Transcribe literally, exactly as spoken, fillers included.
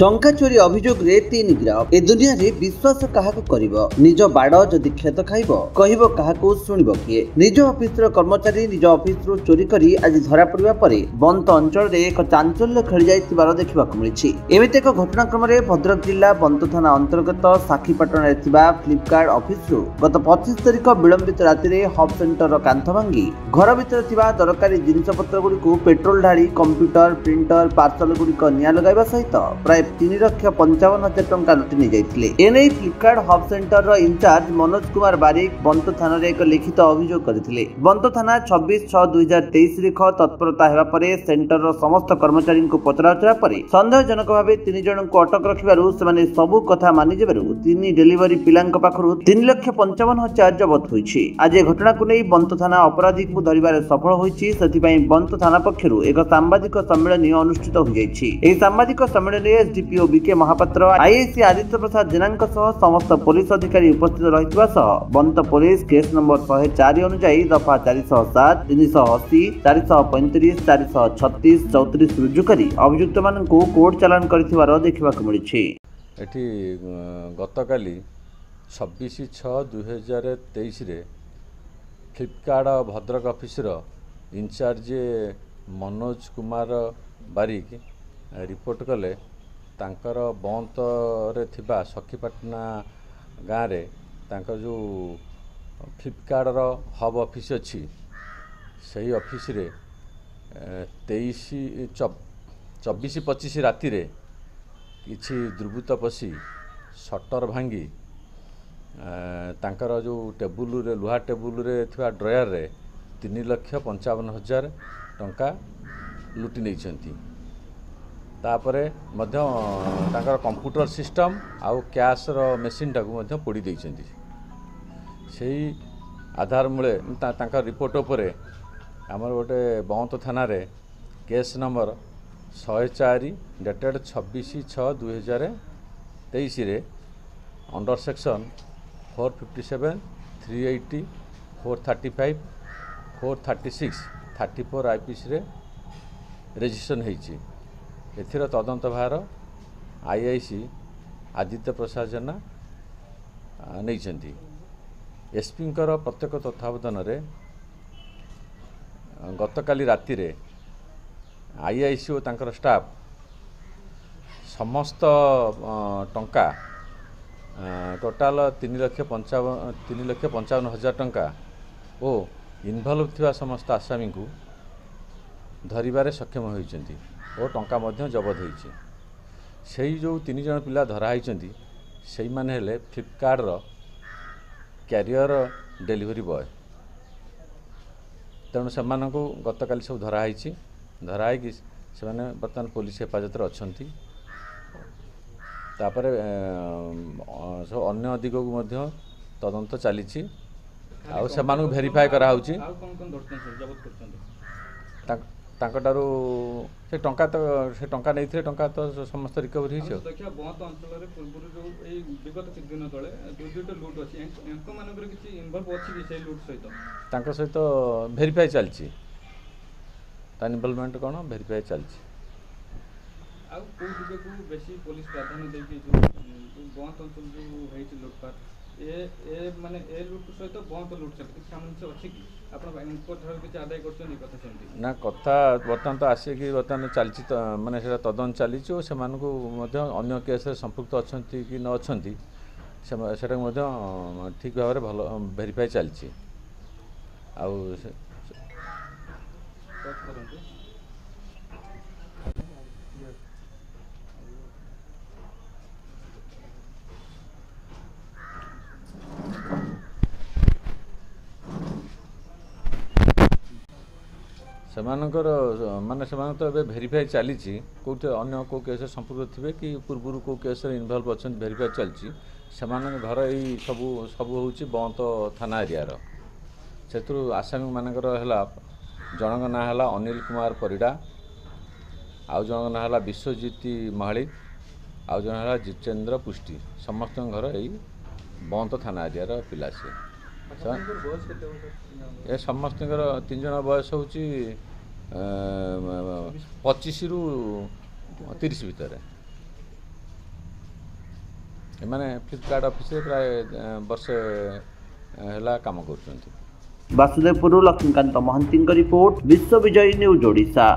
ଟଙ୍କା ଚୋରି ଅଭିଯୋଗରେ ତିନି ଗିରଫ। ଏ ଦୁନିଆରେ ବିଶ୍ୱାସ କାହାକୁ କରିବ? ନିଜ ବାଡ଼ ଯଦି କ୍ଷେତ ଖାଇବ, କହିବ କାହାକୁ, ଶୁଣିବ କିଏ? ନିଜ ଅଫିସର କର୍ମଚାରୀ ନିଜ ଅଫିସରୁ ଚୋରି କରି ଆଜି ଧରାପଡ଼ିବା ପରେ ବନ୍ତ ଅଞ୍ଚଳରେ ଏକ ଚାଞ୍ଚଲ୍ୟ ଖେଳିଯାଇଥିବାର ଦେଖିବାକୁ ମିଳିଛି। ଏମିତି ଏକ ଘଟଣାକ୍ରମରେ ଭଦ୍ରକ ଜିଲ୍ଲା ବନ୍ତ ଥାନା ଅନ୍ତର୍ଗତ ସାକ୍ଷୀପାଟଣାରେ ଥିବା ଫ୍ଲିପକାର୍ଟ ଅଫିସରୁ ଗତ ପଚିଶ ତାରିଖ ବିଳମ୍ବିତ ରାତିରେ ହବ୍ ସେଣ୍ଟରର କାନ୍ଥ ଭାଙ୍ଗି ଘର ଭିତରେ ଥିବା ଦରକାରୀ ଜିନିଷପତ୍ରଗୁଡ଼ିକୁ ପେଟ୍ରୋଲ ଢାଳି କମ୍ପ୍ୟୁଟର, ପ୍ରିଣ୍ଟର, ପାର୍ସଲ ଗୁଡ଼ିକ ନିଆଁ ଲଗାଇବା ସହିତ ପ୍ରାୟ ତିନି ଲକ୍ଷ ପଞ୍ଚାବନ ହଜାର ଟଙ୍କା ଲୁଟି ନେଇଯାଇଥିଲେ। ଏନେଇ ଫ୍ଲିପକାର୍ଟ ହବ୍ ସେଣ୍ଟରର ଇନଚାର୍ଜ ମନୋଜ କୁମାର ବାରିକ ବନ୍ତ ଥାନାରେ ଏକ ଲିଖିତ ଅଭିଯୋଗ କରିଥିଲେ। ବନ୍ତ ଥାନା ଛବିଶ ଛଅ ଦୁଇ ହଜାର ତେଇଶ ତାରିଖ ତତ୍ପରତା ହେବା ପରେ ସେଣ୍ଟରର ସମସ୍ତ କର୍ମଚାରୀଙ୍କୁ ପଚରାଉଚରା ପରେ ସନ୍ଦେହଜନକ ଭାବେ ତିନି ଜଣଙ୍କୁ ଅଟକ ରଖିବାରୁ ସେମାନେ ସବୁ କଥା ମାନିଯିବାରୁ ତିନି ଡେଲିଭରି ପିଲାଙ୍କ ପାଖରୁ ତିନି ଲକ୍ଷ ପଞ୍ଚାବନ ହଜାର ଜବତ ହୋଇଛି। ଆଜି ଏ ଘଟଣାକୁ ନେଇ ବନ୍ତ ଥାନା ଅପରାଧୀଙ୍କୁ ଧରିବାରେ ସଫଳ ହୋଇଛି। ସେଥିପାଇଁ ବନ୍ତ ଥାନା ପକ୍ଷରୁ ଏକ ସାମ୍ବାଦିକ ସମ୍ମିଳନୀ ଅନୁଷ୍ଠିତ ହୋଇଯାଇଛି। ଏହି ସାମ୍ବାଦିକ ସମ୍ମିଳନୀରେ ଏସଡିପିଓ ବିକେ ମହାପାତ୍ର, ଆଇଆଇସି ଆଦିତ୍ୟ ପ୍ରସାଦ ଜେନାଙ୍କ ସହ ସମସ୍ତ ପୋଲିସ ଅଧିକାରୀ ଉପସ୍ଥିତ ରହିଥିବା ସହ ବନ୍ତ ପୋଲିସ କେସ୍ ନମ୍ବର ଶହେ ଚାରି ଅନୁଯାୟୀ ଦଫା ଚାରିଶହ ସାତ, ତିନିଶହ ଅଶୀ, ଚାରିଶହ ପଇଁତିରିଶ, ଚାରିଶହ ଛତିଶ, ଚଉତିରିଶ ରୁଜୁ କରି ଅଭିଯୁକ୍ତମାନଙ୍କୁ କୋର୍ଟ ଚାଲାଣ କରିଥିବାର ଦେଖିବାକୁ ମିଳିଛି। ଏଠି ଗତକାଲି ଛବିଶ ଛଅ ଦୁଇହଜାର ତେଇଶରେ Flipkart Bhadrak officer incharge Manoj Kumar Barik report କଲେ, ତାଙ୍କର ବନ୍ତରେ ଥିବା ସଖୀପାଟଣା ଗାଁରେ ତାଙ୍କର ଯେଉଁ ଫ୍ଲିପକାର୍ଟର ହବ୍ ଅଫିସ୍ ଅଛି, ସେଇ ଅଫିସରେ ତେଇଶ ଚବିଶ ପଚିଶ ରାତିରେ କିଛି ଦୁର୍ବୃତ୍ତ ପଶି ସଟର ଭାଙ୍ଗି ତାଙ୍କର ଯେଉଁ ଟେବୁଲରେ, ଲୁହା ଟେବୁଲରେ ଥିବା ଡ୍ରୟାରରେ ତିନି ଲକ୍ଷ ପଞ୍ଚାବନ ହଜାର ଟଙ୍କା ଲୁଟି ନେଇଛନ୍ତି। ତାପରେ ମଧ୍ୟ ତାଙ୍କର କମ୍ପ୍ୟୁଟର ସିଷ୍ଟମ୍ ଆଉ କ୍ୟାସ୍ର ମେସିନ୍ଟାକୁ ମଧ୍ୟ ପୋଡ଼ି ଦେଇଛନ୍ତି। ସେଇ ଆଧାର ମୂଳେ ତାଙ୍କ ରିପୋର୍ଟ ଉପରେ ଆମର ଗୋଟେ ବନ୍ତ ଥାନାରେ କେସ୍ ନମ୍ବର ଶହେ ଚାରି ଡେଟେଡ଼ ଛବିଶ ଛଅ ଦୁଇହଜାର ତେଇଶରେ under section four fifty seven, three eighty, four thirty five, four thirty six, thirty four ଆଇପିସିରେ registration ହେଇଛି। ଏଥିର ତଦନ୍ତ ଭାର I I C Aditya Prasad Jena ନେଇଛନ୍ତି। ଏସ୍ପିଙ୍କର ପ୍ରତ୍ୟକ୍ଷ ତତ୍ତ୍ୱାବଧାନରେ ଗତକାଲି ରାତିରେ I I C ଓ ତାଙ୍କର ଷ୍ଟାଫ୍ ସମସ୍ତ ଟଙ୍କା ଟୋଟାଲ ତିନି ଲକ୍ଷ ପଞ୍ଚାବନ ତିନି ଲକ୍ଷ ପଞ୍ଚାବନ ହଜାର ଟଙ୍କା ଓ ଇନଭଲ୍ଭ ଥିବା ସମସ୍ତ ଆସାମୀଙ୍କୁ ଧରିବାରେ ସକ୍ଷମ ହୋଇଛନ୍ତି ଓ ଟଙ୍କା ମଧ୍ୟ ଜବତ ହୋଇଛି। ସେଇ ଯେଉଁ ତିନି ଜଣ ପିଲା ଧରା ହୋଇଛନ୍ତି, ସେଇମାନେ ହେଲେ ଫ୍ଲିପକାର୍ଟର କ୍ୟାରିୟର ଡେଲିଭରି ବୟ। ତେଣୁ ସେମାନଙ୍କୁ ଗତକାଲି ସବୁ ଧରା ହୋଇଛି। ଧରା ହୋଇକି ସେମାନେ ବର୍ତ୍ତମାନ ପୋଲିସ ହେଫାଜତରେ ଅଛନ୍ତି। ତାପରେ ସବୁ ଅନ୍ୟ ଦିଗକୁ ମଧ୍ୟ ତଦନ୍ତ ଚାଲିଛି ଆଉ ସେମାନଙ୍କୁ ଭେରିଫାଏ କରାହେଉଛି। ତାଙ୍କଠାରୁ ସେ ଟଙ୍କା ତ ସେ ଟଙ୍କା ନେଇଥିଲେ, ଟଙ୍କା ତ ସମସ୍ତ ରିକଭରି ହେଇଛି। ଦେଖିବା ବନ୍ତ ଅଞ୍ଚଳରେ ପୂର୍ବରୁ ଯେଉଁ ଏଇ ବିଗତ କିଛି ଦିନ ତଳେ ଦୁଇ ଦୁଇଟା ଲୁଟ୍ ଅଛି, ୟାଙ୍କ ମାନଙ୍କର କିଛି ଇନଭଲ୍ଭ ଅଛି କି ସେଇ ଲୁଟ୍ ସହିତ? ତାଙ୍କ ସହିତ ଭେରିଫାଏ ଚାଲିଛି, ତା ଇନଭଲଭମେଣ୍ଟ କ'ଣ ଭେରିଫାଏ ଚାଲିଛି। ଆଉ କେଉଁ ଦିଗକୁ ବେଶୀ ପୋଲିସ ପ୍ରାଧାନ୍ୟ ଦେଇକି ଯେଉଁ ବନ୍ତ ଅଞ୍ଚଳ ଯେଉଁ ହେଇଛି ଲୁଟପାଟ, ଏ ଏ ମାନେ ଏ ଲୁଟ୍ ସହିତ ବନ୍ତ ଲୁଟ୍ ସହିତ କିଛି ସାମଞ୍ଜସ୍ୟ ଅଛି କି? ଆପଣ ଠାରୁ କିଛି ଆଦାୟ କରୁଛନ୍ତି କଥା ସେମିତି ନା? କଥା ବର୍ତ୍ତମାନ ତ ଆସିକି ବର୍ତ୍ତମାନ ଚାଲିଛି, ମାନେ ସେଇଟା ତଦନ୍ତ ଚାଲିଛି ଓ ସେମାନଙ୍କୁ ମଧ୍ୟ ଅନ୍ୟ କେସ୍ରେ ସମ୍ପୃକ୍ତ ଅଛନ୍ତି କି ନ ଅଛନ୍ତି ସେଟାକୁ ମଧ୍ୟ ଠିକ୍ ଭାବରେ ଭଲ ଭେରିଫାଏ ଚାଲିଛି। ଆଉ କରନ୍ତୁ। ସେମାନଙ୍କର ମାନେ ସେମାନଙ୍କ ତ ଏବେ ଭେରିଫାଏ ଚାଲିଛି, କେଉଁଠି ଅନ୍ୟ କେଉଁ କେସ୍ରେ ସମ୍ପୃକ୍ତ ଥିବେ କି ପୂର୍ବରୁ କେଉଁ କେସ୍ରେ ଇନଭଲ୍ଭ ଅଛନ୍ତି ଭେରିଫାଏ ଚାଲିଛି। ସେମାନଙ୍କ ଘର ଏଇ ସବୁ ସବୁ ହେଉଛି ବନ୍ତ ଥାନା ଏରିଆର। ସେଥିରୁ ଆସାମୀମାନଙ୍କର ହେଲା ଜଣଙ୍କ ନାଁ ହେଲା ଅନିଲ କୁମାର ପରିଡ଼ା, ଆଉ ଜଣଙ୍କ ନାଁ ହେଲା ବିଶ୍ୱଜିତ ମହାଳିକ, ଆଉ ଜଣେ ହେଲା ଜିତେନ୍ଦ୍ର ପୃଷ୍ଟି। ସମସ୍ତଙ୍କ ଘର ଏଇ ବନ୍ତ ଥାନା ଏରିଆର ପିଲା। ସିଏ ଏ ସମସ୍ତଙ୍କର ତିନି ଜଣ ବୟସ ହେଉଛି ପଚିଶରୁ ତିରିଶ ଭିତରେ। ଏମାନେ ଫ୍ଲିପକାର୍ଟ ଅଫିସରେ ପ୍ରାୟ ବର୍ଷେ ହେଲା କାମ କରୁଛନ୍ତି। ବାସୁଦେବପୁରରୁ ଲକ୍ଷ୍ମୀକାନ୍ତ ମହାନ୍ତିଙ୍କ ରିପୋର୍ଟ, ବିଶ୍ୱ ବିଜୟୀ ନ୍ୟୁଜ୍ ଓଡ଼ିଶା।